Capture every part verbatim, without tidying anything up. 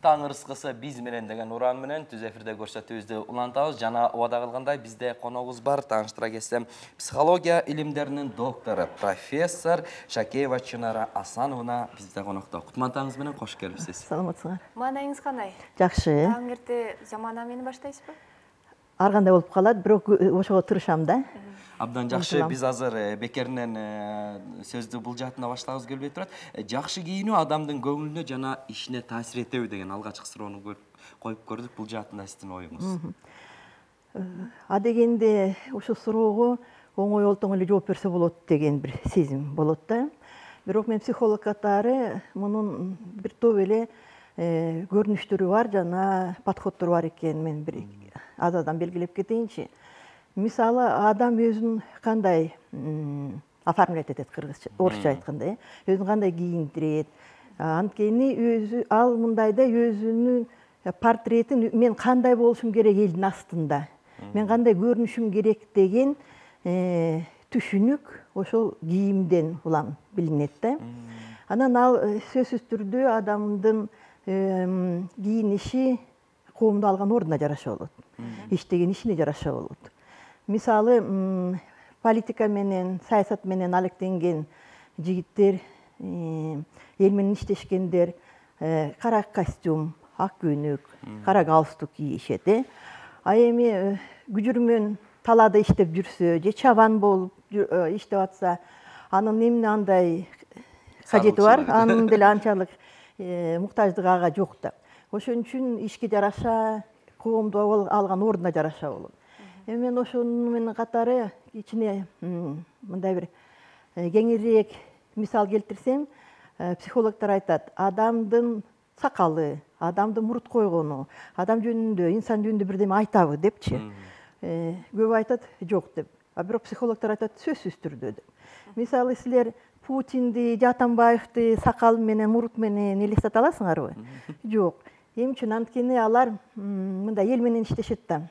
Таң ырыскысы биз менен деген уран менен түз эфирде көрсөтүүбүздү улантабыз. Жана убада кылгандай бизде коногубуз бар. Тааныштыра кетсем, психология илимдеринин доктору, профессор Шакеева Чынара Асановна бизде конокто. Кутман менен кош келипсиз. Саламатсыңар. Маанайыңыз кандай? Жакшы. Таң эрте замана менен баштайсызбы? Ар кандай болуп калат, бирок ошого тырышам да. Абдан жакшы. Биз азыр бекеринен сөздү бул жаатына баштагыбыз келбей турат. Жакшы кийинүү адамдын көңүлүнө жана ишине таасир этеби деген алгачкы суроону коюп көрдүк. Бул жаатында сиздин оюңуз? А дегенде ушул суроого оңой олтоң эле жооп берсе болот деген бир сезим болот да. Бирок мен психолог катары мунун бир топ эле көрүнүштөрү бар жана подходдору бар экенин мен бир азадан белгилеп кетейинчи. Мисалы, адам өзүн кандай оформлять этет, кыргызча, орусча айтканда, өзүн кандай кийиндирет. Анткени өзү ал мындайда өзүнүн портретин мен кандай болушум керек элдин астында, мен кандай көрүнүшүм керек деген түшүнүк ошол кийимден улам билинет да. Анан ал сөзсүз түрдө адамдын кийиниши коомдо алган ордуна жараша болот, иштеген ишине жараша болот. Мисалы, политика менен, саясат менен алектенген жигиттер, эл менен иштешкендер кара костюм, ак көйнөк, кара галстук кийишет. А эми күжүрмөн талаада иштеп жүрсө, же чабан болуп иштеп атса, анын эмне андай кажети бар, анын деле анчалык муктаждыгы ага жок да. Ошон үчүн ишке жараша, коомдо алган ордуна жараша болот. Мен ошону менен катары ичине мындай бир кеңирээк мисал келтирсем, психологдор айтат, адамдын сакалы, адамдын мурут койгону, адам жөнүндө, инсан жөнүндө бирдеме айтабы депчи. Көп айтат, жок деп. А бирок психологдор айтат, сөзсүз түрдө деп. Мисалы, силер Путинди, Атамбаевди сакал менен, мурут менен элестете аласыңарбы? Жок. Эмне үчүн? Анткени алар мындай эл менен иштешет да.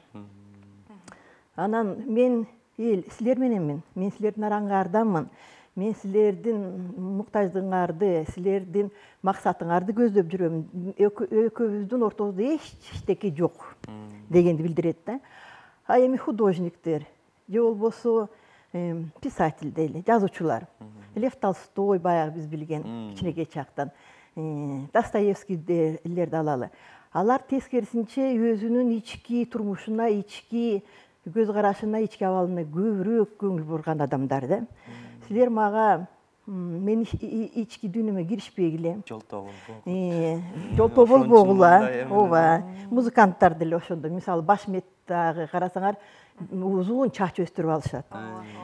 Анан мен эл силер мененмин, мен силердин араңардамын, мен силердин муктаждыгыңарды, силердин максатыңарды көздөп жүрөм, экөөбүздүн ортобузда эчтеке жок дегенди билдирет да. А эми художниктер, же болбосо писатель дейли, жазуучулар, Лев Толстой баягы биз билген кичинекей чактан, Достоевскийлерди алалы. Алар тескерисинче өзүнүн ички турмушуна, ички көз карашына, ички абалына көбүрөөк көңүл бурган адамдар да. Силер мага мен ички дүйнөмө киришпегиле. Жолтоо болбогула. Жолтоо болбогула. Ооба. Музыканттар деле ошондо. Мисалы, Башметтагы карасаңар, узун чач өстүрүп алышат.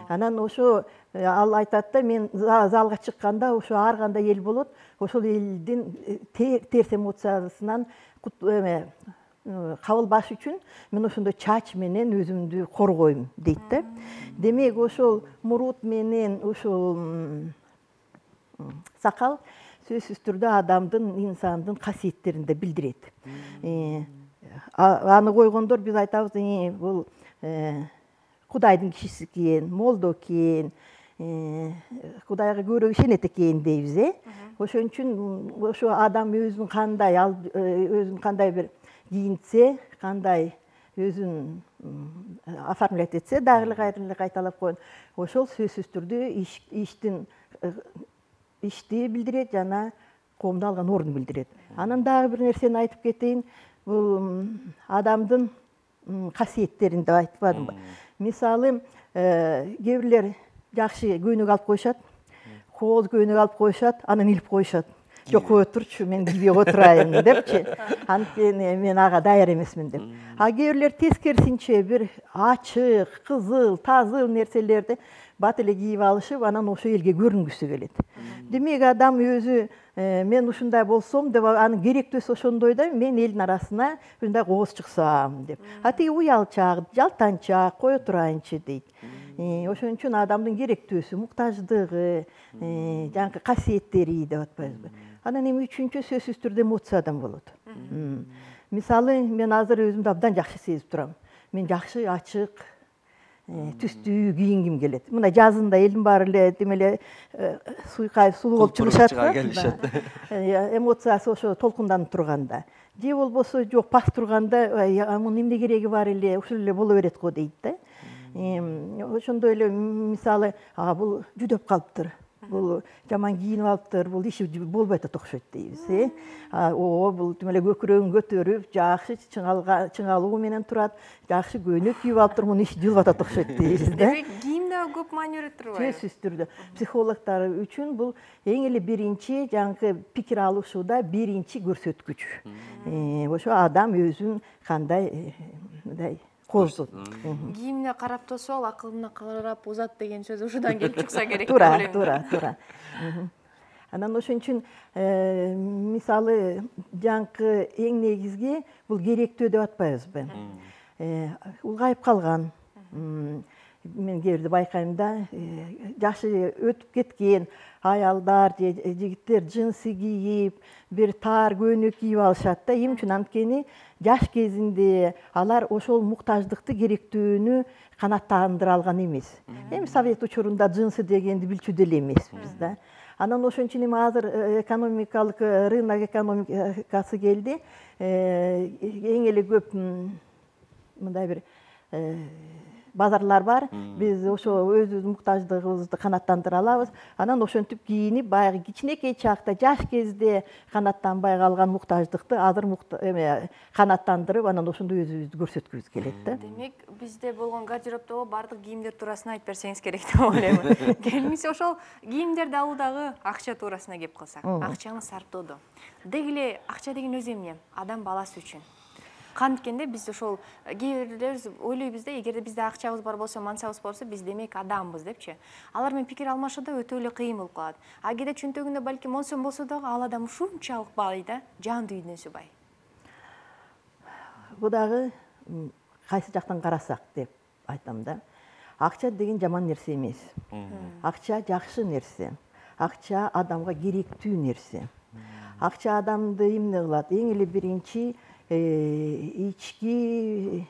Анан ошо ал айтат да, мен залга чыкканда ошо ар кандай эл болот, ошол элдин терс эмоциясынан кабылбаш үчүн мен ошондой чач менен өзүмдү коргойм дейт да. Демек, ошол мурут менен ошол сакал сөзсүз түрдө адамдын, инсандын касиеттерин да билдирет. Аны койгондор биз айтабыз, бул Кудайдын кишиси экен, молдо экен, Кудайга көбүрөөк ишенет экен дейбиз. Ошон үчүн ошо адам өзүн кандай, өзүн кандай бир кийинтсе, кандай өзүн оформлять этсе, дагы эле кайталап коеюн. Ошол сөзсүз түрдө иштин ишти билдирет жана коомдо алган ордун билдирет. Анан дагы бир нерсени айтып кетейин. Бул адамдын касиеттерин деп айтпадымбы? Мисалы, кээ бирлер жакшы көйнөк алып коюшат, кооз көйнөк алып коюшат, анан илип коюшат. Жок, кое турчу, мен кийбей отурайын депчи. Анткени мен ага даяр эмесмин деп. А кээ бирлер тескерисинче бир ачык, кызыл, тазы нерселерди бат эле кийип алышып, анан ошо элге көрүнгүсү келет. Демек, адам өзү мен ушундай болсом деп, анын керектөөсү ошондой да, мен элдин арасына ушундай кооз чыксам деп. А тиги уялчак, жалтанчак, кое турайынчы дейт. Ошон үчүн адамдын керектөөсү, муктаждыгы, жанакы касиеттери деп атпайбызбы? Анан эми үчүнчү сөзсүз түрдө эмоциядан болот. Мисалы, мен азыр өзүмдү абдан жакшы сезип турам. Мен жакшы ачык, түстүү кийингим келет. Мына жазында элдин баары эле демеле суйкай сулуу болуп чыгышат да. Эмоциясы ошо толкунданып турганда. Же болбосо жок пас турганда, мунун эмне кереги бар эле, ушул эле боло берет го дейт да. Ошондой эле мисалы, а бул жүдөп калыптыр. Бул жаман кийинип алыптыр, бул иши болбой атат окшойт дейбиз, э. О, бул демеле көкүрөгүн көтөрүп, жакшы чыңалуу менен турат, жакшы көйнөк кийип алыптыр, мунун иши жылып атат окшойт дейбиз да. Демек, кийимде көп маани берет турбайбы? Сөзсүз түрдө. Психологдор үчүн бул эң эле биринчи жаңкы пикир алышууда биринчи көрсөткүч. Ошо адам өзүн кандай мындай коздот. Кийимине карап турса, ал акылына карап узат деген сөз ушудан келип чыкса керек деп Туура, ойлойм. туура, туура. Анан ошон үчүн мисалы жаңкы эң негизги бул керектүү деп атпайбызбы? Улгайып калган. Мен кээ бирде байкайм да, жашы өтүп кеткен аялдар же жигиттер джинсы кийип, бир таар көйнөк кийип алышат да. Эмне үчүн? Анткени жаш кезинде алар ошол муктаждыкты, керектүүнү канааттандыра алган эмес. Эми совет учурунда джинсы дегенди билчү деле эмеспиз да. Анан ошон үчүн эми азыр экономикалык рынок экономикасы келди. Эң эле көп мындай бир базарлар бар. Биз ошо өзүбүздүн муктаждыгыбызды канааттандыра алабыз. Анан ошентип кийинип, баягы кичинекей чакта, жаш кезде канааттанбай калган муктаждыкты азыр эме канааттандырып, анан ошондой өзүбүздү көрсөткүбүз келет да. Демек, бизде болгон гардеробдогу баардык кийимдер туурасында айтып берсеңиз керек деп ойлойм. Келиңиз ошол кийимдерди алуудагы акча туурасына кеп калсак. Акчаны сарптоодо. Деги эле акча деген өзү эмне? Адам баласы үчүн. Канткенде биз ошол кээ бирлер ойлойбуз да, эгерде бизде акчабыз бар болсо, мансабыбыз болсо, биз демек адамбыз депчи. Алар менен пикир алмашууда өтө эле кыйын болуп калат. А кээде чөнтөгүндө балким он сом болсо дагы ал адам ушунчалык бай да, жан дүйнөсү бай. Бу дагы кайсы жактан карасак деп айтам да. Акча деген жаман нерсе эмес. Акча жакшы нерсе. Акча адамга керектүү нерсе. Акча адамды эмне кылат? Эң эле биринчи ички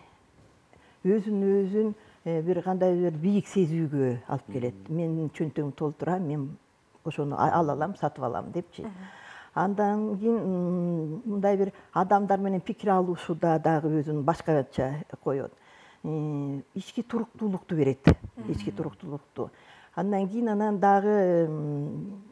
өзүн өзүн бир кандай бир бийик сезүүгө алып келет. Мен чөнтөгүм толтура, мен ошону ала алам, сатып алам депчи. Андан кийин мындай бир адамдар менен пикир алышууда дагы өзүн башкача коет. Ички туруктуулукту берет. Ички туруктуулукту. Андан кийин анан дагы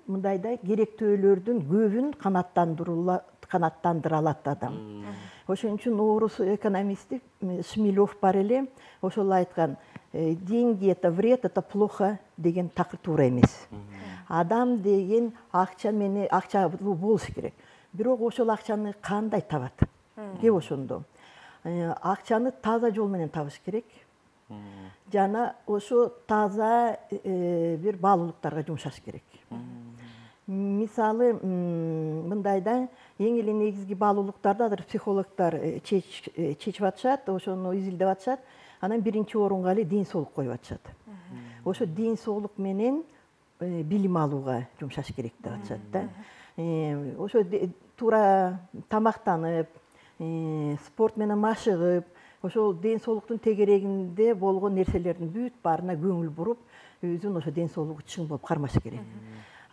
мындай да керектөөлөрдүн көбүн канааттандыра алат адам. Ошон үчүн орус экономисти Шмелев бар эле, ошол айткан, деньги это вред, это плохо деген такыр туура эмес. Адам деген акча менен акча болуш керек. Бирок ошол акчаны кандай табат? Кеп ошондо. Акчаны таза жол менен табыш керек. Жана ошо таза бир баалуулуктарга жумшаш керек. Мисалы, мындай да, эң эле негизги баалуулуктарды азыр психологдор чечип атышат, ошону изилдеп атышат. Анан биринчи орунга эле ден соолук коюп атышат. Ошо ден соолук менен билим алууга жумшаш керек деп атышат да. Ошо туура тамактанып, спорт менен машыгып, ошол ден соолуктун тегерегинде болгон нерселердин бүт баарына көңүл буруп, өзүн ошо ден соолугу чың болуп кармаш керек.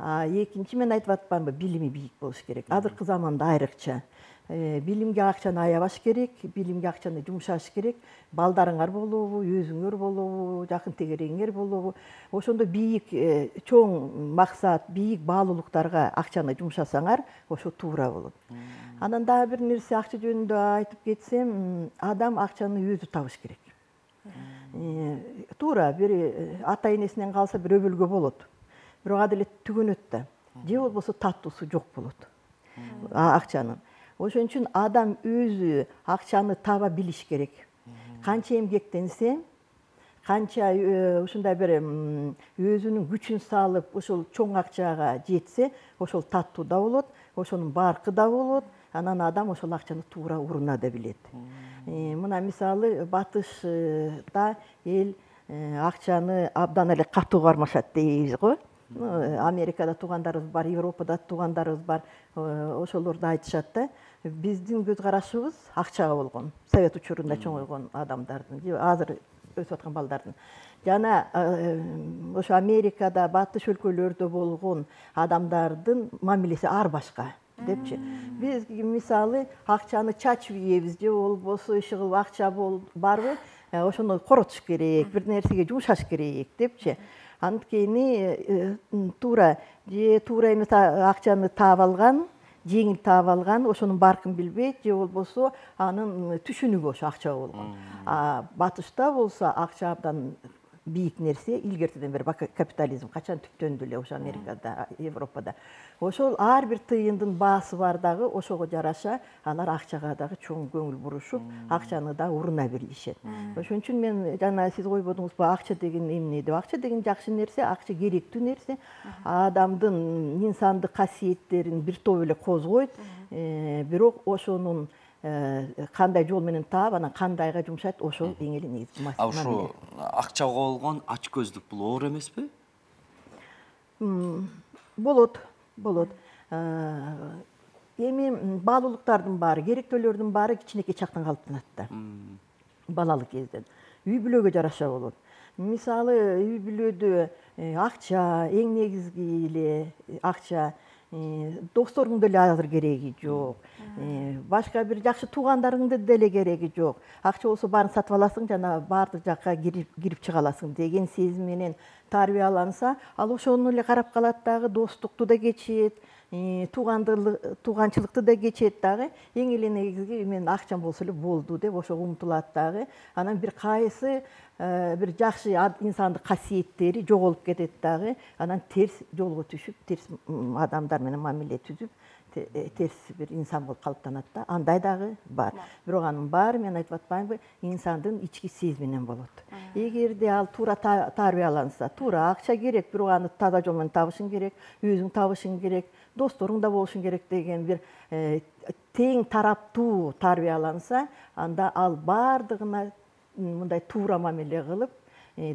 А экинчи мен айтып атпаймынбы, билими бийик болуш керек. Азыркы заманда айрыкча билимге акчаны аябаш керек, билимге акчаны жумшаш керек. Балдарыңар болобу, өзүңөр болобу, жакын тегерегиңер болобу, ошондо бийик чоң максат, бийик баалуулуктарга акчаны жумшасаңар, ошо туура болот. Анан дагы бир нерсе акча жөнүндө айтып кетсем, адам акчаны өзү табыш керек. Туура, бир ата энесинен калса бир өбөлгө болот. Бирок ал эле түгөнөт да. Же болбосо таттуусу жок болот. Акчанын. Ошон үчүн адам өзү акчаны таба билиш керек. Канча эмгектенсе, канча ушундай бир өзүнүн күчүн салып, ошол чоң акчага жетсе, ошол таттуу да болот, ошонун баркы да болот. Анан адам ошол акчаны туура уруна да билет. Мына мисалы батышта эл акчаны абдан эле катуу кармашат дейбиз го. Америкада туугандарыбыз бар, Европада туугандарыбыз бар. Ошолорду айтышат да. Биздин көз карашыбыз акчага болгон. Совет учурунда чоңойгон адамдардын. Азыр өсүп аткан балдардын. Жана ошо Америкада, батыш өлкөлөрдө болгон адамдардын мамилеси ар башка депчи. Биз мисалы акчаны чачып ийебиз же болбосо иши кылып акча барбы, ошону коротуш керек, бир нерсеге жумшаш керек депчи. Анткени туура же туура эмес акчаны таап алган, жеңил таап алган, ошонун баркын билбейт, же болбосо анын түшүнүгү ошо акча болгон. А батышта болсо акча абдан бийик нерсе, илгертеден бери капитализм качан түптөндү эле ошо Америкада, Европада. Ошол ар бир тыйындын баасы бар дагы, ошого жараша алар акчага дагы чоң көңүл бурушуп, акчаны да уруна бирлишет. Ошон үчүн мен жана сиз койбодуңузбу, акча деген эмне деп. Акча деген жакшы нерсе, акча керектүү нерсе. Адамдын инсандык касиеттерин бир топ эле козгойт, бирок ошонун кандай жол менен таап, анан кандайга жумшайт, ошол эң эле негизги маселе. А ошо акчага болгон ачкөздүк бул оор эмеспи? Болот, болот. Эми баалуулуктардын баары, керектөөлөрдүн баары кичинекей чактан калыптанат да. Балалык кезден. Үй бүлөгө жараша болот. Мисалы, үй бүлөдө акча, эң негизги эле акча, досторуңдун деле азыр кереги жок. Башка бир жакшы туугандарыңдын деле кереги жок. Акча болсо баарын сатып аласың, жана баардык жакка кирип чыга аласың деген сезим менен тарбияланса, ал ошону эле карап калат дагы, достукту да кечет, тууганчылыкты да кечет дагы. Эң эле негизги мен акчам болсо эле болду деп ошого умтулат дагы. Анан бир кайсы бир жакшы инсандык касиеттери жоголуп кетет дагы. Анан терс жолго түшүп, терс адамдар менен мамиле түзүп, терс бир инсан болуп калыптанат да. Андай дагы бар. Бирок анын баары, мен айтып атпаймынбы, инсандын ички сезиминен болот. Эгерде ал туура тарбияланса, туура акча керек, бирок аны таза жол менен табышың керек, өзүң табышың керек, досторуң да болушуң керек деген бир тең тараптуу тарбияланса, анда ал баардыгына мындай туура мамиле кылып,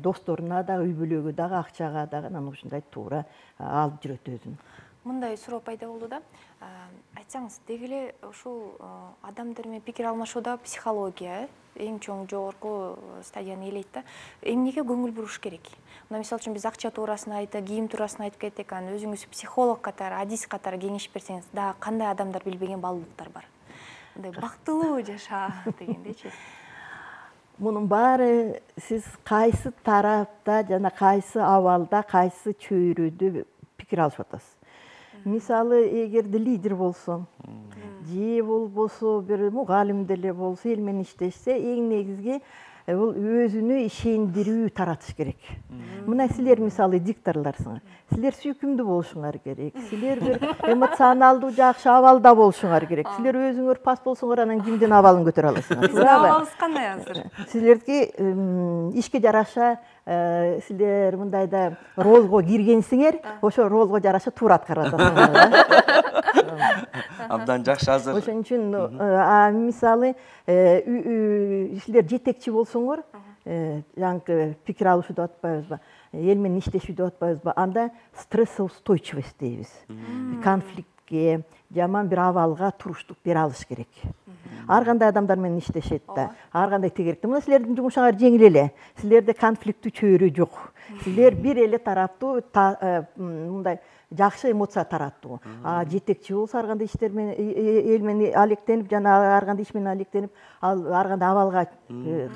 досторуна да, үй бүлөгө дагы, акчага дагы анан ушундай туура алып жүрөт өзүн. Мындай суроо пайда болду да. Айтсаңыз, деги эле ушул адамдар менен пикир алмашууда психология эң чоң жогорку стадияны ээлейт да. Эмнеге көңүл буруш керек? Мына мисалы үчүн биз акча туурасына айтып, кийим туурасына айтып кеттик, анан өзүңүз психолог катары, адис катары кеңеш берсеңиз, дагы кандай адамдар билбеген баалуулуктар бар? Мындай бактылуу жаша дегендейчи. Мунун баары сиз кайсы тарапта жана кайсы абалда, кайсы чөйрөдө пикир алышып атасыз. Мисалы, эгерде лидер болсо, же болбосо бир мугалим деле болсо, эл менен иштешсе, эң негизги бул өзүнө ишендирүү таратыш керек. Мына силер мисалы дикторлорсуңар. Силер сүйкүмдүү болушуңар керек. Силер бир эмоционалдуу жакшы абалда болушуңар керек. Силер өзүңөр пас болсоңор, анан кимдин абалын көтөрө аласыңар. Биздин абалыбыз кандай азыр? Силерге ишке жараша силер мындайда ролго киргенсиңер, ошо ролго жараша туура аткарып атасыңар. Абдан жакшы азыр. Ошон үчүн мисалы силер жетекчи болсоңор, жаңкы пикир алышуу деп атпайбызбы, эл менен иштешүү деп атпайбызбы, анда стрессоустойчивость дейбиз. Конфликтке, жаман бир абалга туруштук бере алыш керек. Ар кандай адамдар менен иштешет да, ар кандай тегеректе. Мына силердин жумушуңар жеңил эле. Силерде конфликттүү чөйрө жок. Силер бир эле тараптуу мындай жакшы эмоция тараттуу. А жетекчи болсо ар кандай иштер менен, эл менен алектенип, жана ар кандай иш менен алектенип, ал ар кандай абалга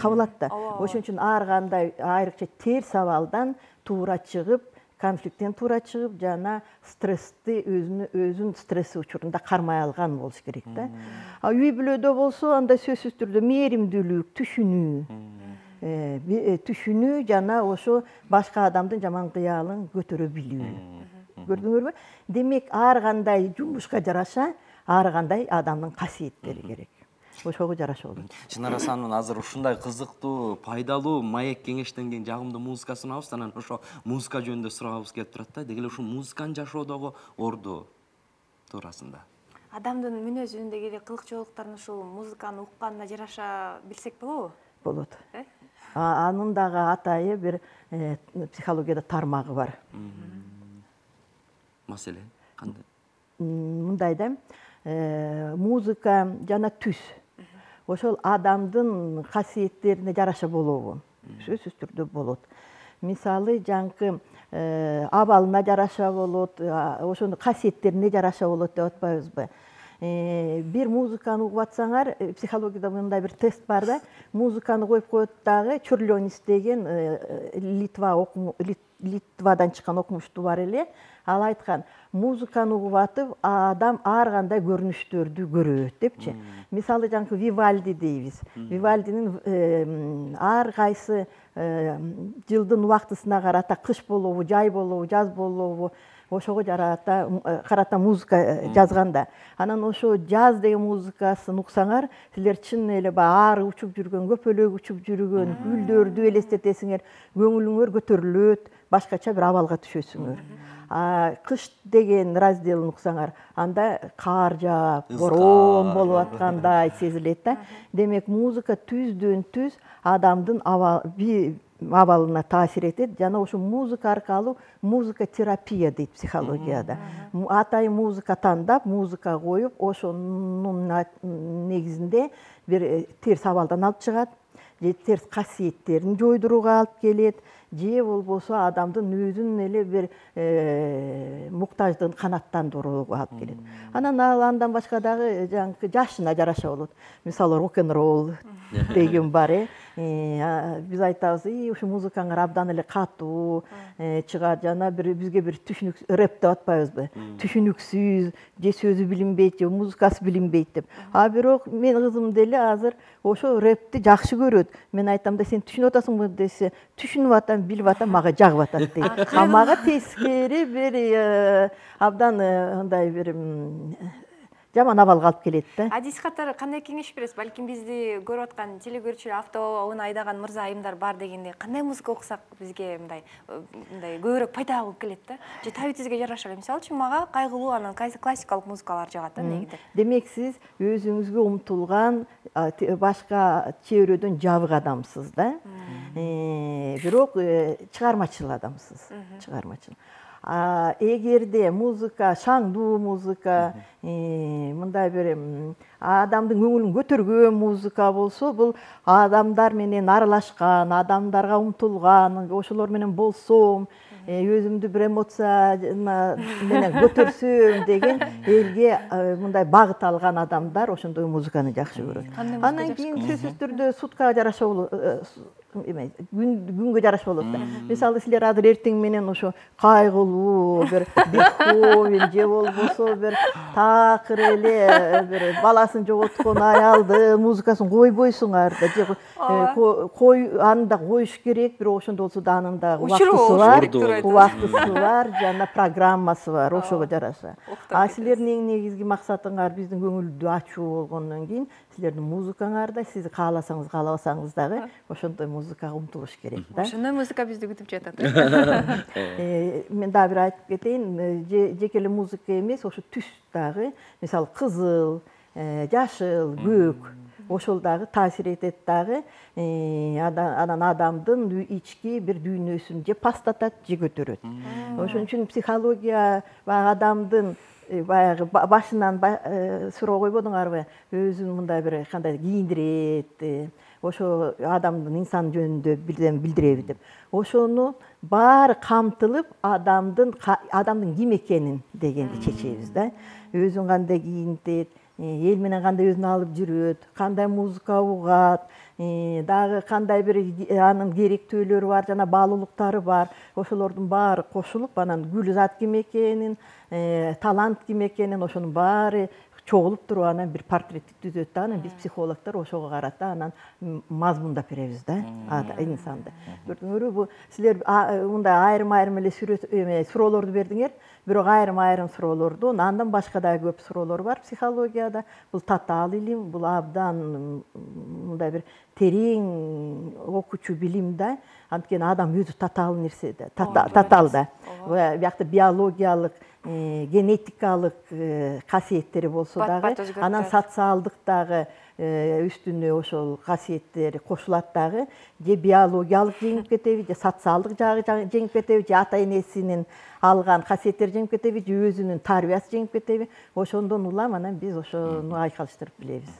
кабылат да. Ошон үчүн ар кандай айрыкча терс абалдан туура чыгып, конфликттен туура чыгып, жана стрессти өзүнө өзүн стресс учурунда кармай алган болуш керек да. А үй бүлөдө болсо, анда сөзсүз түрдө мээримдүүлүк, түшүнүү, түшүнүү жана ошо башка адамдын жаман кыялын көтөрө билүү. Көрдүңөрбү? Демек, ар кандай жумушка жараша, ар кандай адамдын касиеттери керек. Ошого жараша болот. Чынара Асанова азыр ушундай кызыктуу, пайдалуу, маек кеңештенген жагымдуу музыка сунабыз, анан ошо музыка жөнүндө сурагыбыз келип турат да. Деги эле ушул музыканын жашоодогу орду туурасында. Адамдын мүнөзүндөгү эле кылыкчылыктарын ушул музыканы укканына жараша билсек болобу? Болот. Анын дагы атайы бир психологияда тармагы бар. Маселе кандай? Мындай да, музыка жана түс. Ошол адамдын касиеттерине жараша болобу? сөзсүз түрдө болот. Мисалы жаңкы абалына жараша болот, ошону касиеттерине жараша болот деп атпайбызбы? Бир музыканы угуп атсаңар, психологияда мындай бир тест бар да, музыканы коюп коет дагы, Чурлёнис деген Литва Литвадан чыккан окумуштуу бар эле, ал айткан, музыканы угуп атып, адам ар кандай көрүнүштөрдү көрөт депчи. Мисалы жаңкы Вивальди дейбиз. Вивальдинин ар кайсы жылдын убактысына карата, кыш болобу, жай болобу, жаз болобу, ошого жарата карата музыка жазганда. Анан ошо жаз деген музыкасын уксаңар, силер чын эле баягы ары учуп жүргөн, көпөлөк учуп жүргөн гүлдөрдү элестетесиңер, көңүлүңөр көтөрүлөт, башкача бир абалга түшөсүңөр. Кыш деген разделин уксаңар, анда кар жаап, борон болуп аткандай сезилет да. Демек, музыка түздөн түз адамдын абалына таасир этет. Жана ошо музыка аркылуу музыка терапия дейт психологияда. Атайын музыка тандап, музыка коюп, ошонун негизинде бир терс абалдан алып чыгат, же терс касиеттерин жойдурууга алып келет, же болбосо адамдын өзүнүн эле бир муктаждыгын канааттандырууга алып келет. Анан ал андан башка дагы жаңкы жашына жараша болот. Мисалы, рок-н-ролл деген бар, э. Биз айтабыз, ушу музыкаңар абдан эле катуу чыгат, жана бир бизге бир түшүнүк рэп деп атпайбызбы? Түшүнүксүз, же сөзү билинбейт, же музыкасы билинбейт деп. А бирок менин кызым деле азыр ошо рэпти жакшы көрөт. Мен айтам да, сен түшүнүп атасыңбы десе, түшүнүп атам, билип атам, мага жагып атат дейт. А мага тескери бир абдан андай бир жаман абалга алып келет да. Адис катары кандай кеңеш бересиз? Балким бизди көрүп аткан телекөрүүчүлөр автоунаа айдаган мырза айымдар бар дегенде, кандай музыка уксак бизге мындай мындай көбүрөөк пайда болуп келет да? Же табитибизге жараша эле. Мисалы үчүн мага кайгылуу анан классикалык музыкалар жагат да негиде. Демек, сиз өзүңүзгө умтулган, башка чөйрөдөн жабык адамсыз да. Бирок чыгармачыл адамсыз. Чыгармачыл. Эгерде музыка, шаңдуу музыка, мындай бир адамдын көңүлүн көтөргөн музыка болсо, бул адамдар менен аралашкан, адамдарга умтулган, ошолор менен болсом, өзүмдү бир эмоция менен көтөрсөм деген элге мындай багыт алган адамдар ошондой музыканы жакшы көрөт. Андан кийин сөзсүз түрдө суткага жараша болот, күнгө жараша болот да. Мисалы, силер азыр эртең менен ошо кайгылуу бир Бетховен же болбосо бир такыр эле бир баласын жоготкон аялды музыкасын койбойсуңар да, же кой аны да коюш керек, бирок ошондо болсо да анын да убактысы бар, убактысы бар, жана программасы бар, ошого жараша. А силердин негизги максатыңар биздин көңүлдү ачуу болгондон кийин силердин музыкаңарда сиз кааласаңыз, каалабасаңыз дагы ошондой музыкага умтулуш керек да. Ошондой музыка бизди күтүп жатат. Мен дагы бир айтып кетейин, жеке эле музыка эмес, ошо түс дагы, мисалы, кызыл, жашыл, көк, ошол дагы таасир этет дагы, анан адамдын ички бир дүйнөсүн же пастатат, же көтөрөт. Ошон үчүн психология баягы адамдын баягы башынан суроо койбодуңарбы, өзүн мындай бир кандай кийиндирет, ошо адамдын инсан жөнүндө билдиреби деп. Ошону баары камтылып, адамдын адамдын ким экенин дегенди чечебиз да. Өзүн кандай кийинтет, эл менен кандай өзүн алып жүрөт, кандай музыка угат, дагы кандай бир анын керектөөлөрү бар, жана баалуулуктары бар. Ошолордун баары кошулуп, анан гүл зат ким экенин, талант ким экенин, ошонун баары чогулуп туруп анан бир портретти түзөт да. Анан биз психологдор ошого карата анан мазмундап беребиз да инсанды. Көрдүңөрбү, бул силер мындай айрым-айрым эле суроолорду бердиңер, бирок айрым-айрым суроолорду, андан башка дагы көп суроолор бар психологияда. Бул татаал илим, бул абдан мындай бир терең окуучу билим да. Анткени адам өзү татаал нерсе да, татаал да. Биякта биологиялык, генетикалык касиеттери болсо дагы, анан социалдык дагы үстүнө ошол касиеттери кошулат дагы, же биологиялык жеңип кетеби, же социалдык жагы жеңип кетеби, же ата энесинин алган касиеттери жеңип кетеби, же өзүнүн тарбиясы жеңип кетеби. Ошондон улам анан биз ошону айкалыштырып билебиз.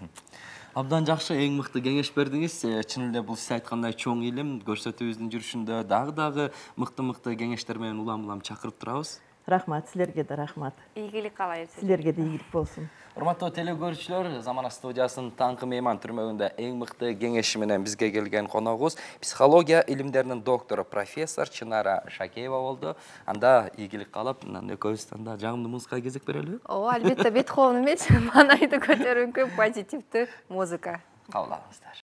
Абдан жакшы, эң мыкты кеңеш бердиңиз. Э, Чын эле бул сиз айткандай чоң илим көрсөтүүбүздүн жүрүшүндө дагы дагы мыкты-мыкты кеңештер менен улам-улам чакырып турабыз. Рахмат, силерге да рахмат. Ийгилик каалайбыз. Силерге да ийгилик болсун. Урматтуу телекөрүүчүлөр, Замана студиясынын таңкы мейман түрмөгүндө эң мыкты кеңеши менен бизге келген коногубуз психология илимдеринин доктору профессор Чынара Шакеева болду. Анда ийгилик каалап, мындан экөөбүз анда жагымдуу музыкага кезек берелиби? Ооба, албетте Бетховен эмес, Манайды көтөрүңкү позитивдүү музыка. Кабыл алыңыздар.